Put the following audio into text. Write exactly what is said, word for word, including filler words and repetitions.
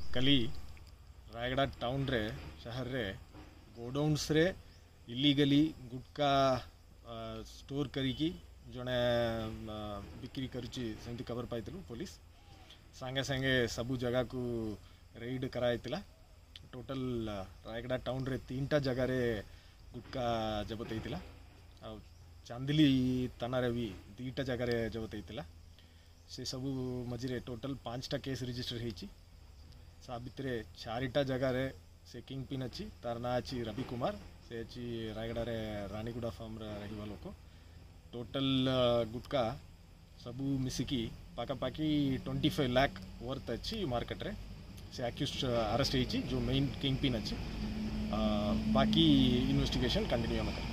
କାଲି ରାୟଗଡ଼ା ଟାଉନରେ ସହରରେ ଗୋଡାଉନ୍ସରେ ଇଲିଗାଲି ଗୁଟକା ଷ୍ଟୋର କରିକି ଜଣେ ବିକ୍ରି କରୁଛି ସେମିତି ଖବର ପାଇଥିଲୁ ପୋଲିସ ସାଙ୍ଗେ ସାଙ୍ଗେ ସବୁ ଜାଗାକୁ ରେଡ୍ କରାଯାଇଥିଲା ଟୋଟାଲ ରାୟଗଡ଼ା ଟାଉନରେ ତିନିଟା ଜାଗାରେ ଗୁଟକା ଜବତ ହେଇଥିଲା ଆଉ ଚାନ୍ଦିଲି ଥାନାରେ ବି ଦୁଇଟା ଜାଗାରେ ଜବତ ହେଇଥିଲା ସେ ସବୁ ମଝିରେ ଟୋଟାଲ ପାଞ୍ଚଟା କେସ୍ ରେଜିଷ୍ଟର ହେଇଛି ତା ଭିତରେ ଚାରିଟା ଜାଗାରେ ସେ କିଙ୍ଗ ପିନ୍ ଅଛି ତାର ନାଁ ଅଛି ରବି କୁମାର ସେ ଅଛି ରାୟଗଡ଼ାରେ ରାଣୀଗୁଡ଼ା ଫାର୍ମରେ ରହିବା ଲୋକ ଟୋଟାଲ ଗୁଟକା ସବୁ ମିଶିକି ପାଖାପାଖି ଟ୍ୱେଣ୍ଟି ଫାଇଭ୍ ଲାଖ୍ ୱର୍ଥ ଅଛି ମାର୍କେଟରେ ସେ ଆକ୍ୟୁଜ୍ ଆରେଷ୍ଟ ହେଇଛି ଯେଉଁ ମେନ୍ କିଙ୍ଗ ପିନ୍ ଅଛି ବାକି ଇନଭେଷ୍ଟିଗେସନ୍ କଣ୍ଟିନ୍ୟୁ ଆମେ କରିବୁ